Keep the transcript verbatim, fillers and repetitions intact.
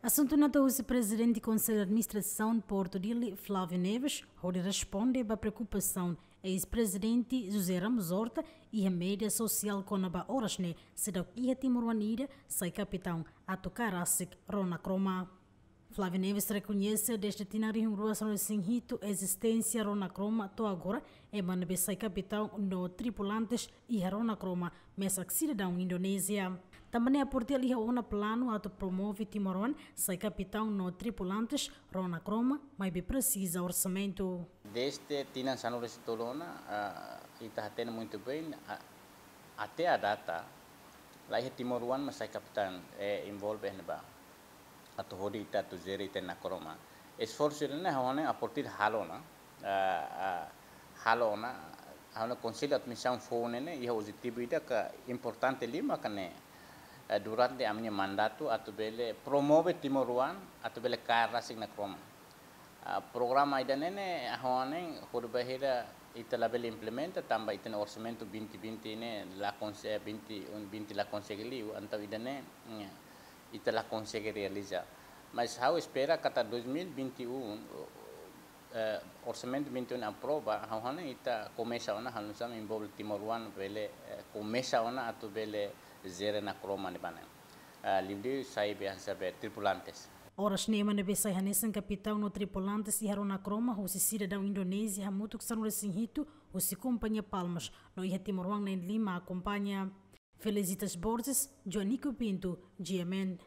Asuntu ne'e tau husi Prezidente Konsellu Administrasaun Portu Dili, Flávio Neves, hodi responde ba preokupasaun eis-prezidente José Ramos Horta iha média sosiál kona-ba oras ne'e seidauk iha timoroan ida sai kapitaun atu kaer rasik rona kromo. Flávio Neves rekoñese dezde tinan rihun rua sanulu-resin-hitu ezisténsia rona kromo to'o agora, ema ne'ebé sai kapitaun no tripulantes iha rona kromo mesak sidadaun Indonézia. Tanba ne'e Portu Dili iha ona planu atu promove timoroan sai kapitaun no tripulantes rona kromo, maibé presiza orsamentu. Dezde tinan sanulu-resin-tolu ona, ah, ita hatene muitu bein, ah, até à data, la iha timoroan mak sai kapitaun, eh, envolve iha ne'ebá. Atu hodi ita atu jere ita-nia kromo. Esforsu ida-ne'e ha'u hanoin Portu Dili halo ona, ah, ah, halo ona, ha'u hanoin Konsellu Administrasaun foun ne'e, iha objetivu ida ke importante liu maka ne'e, eh, durante ami-nia mandatu atu bele promove timoroan, atu bele kaer rasik nia kromo. Ah, programa ida-ne'e ne'e, ha'u hanoin hodi bainhira ita labele implementa, tanba ita-nia orsamentu vinte vinte ne'e la konse-, vinte e um, vinte la konsege liu, entaun ida-ne'e, mm, ita la konsege realiza. Mas ha'u espera katak dois mil e vinte e um, eh, orsamentu vinte e um aprova, ha'u hanoin ita komesa ona, halo nu'usá mak envolve timoroan bele, eh, komesa ona atu bele jere nia kromo ne'ebá ne'e. Ah, liuliu sai be hanesan be tripulantes. Oras ne'e ema ne'ebé sai hanesan kapitaun no tripulantes iha rona kromo husi sidadaun Indonézia hamutuk sanulu-resin-hitu husi kompañia Palmas, no iha timoroan na'in-lima akompaña. Felicitas Borges, Joanico Pinto, G M N.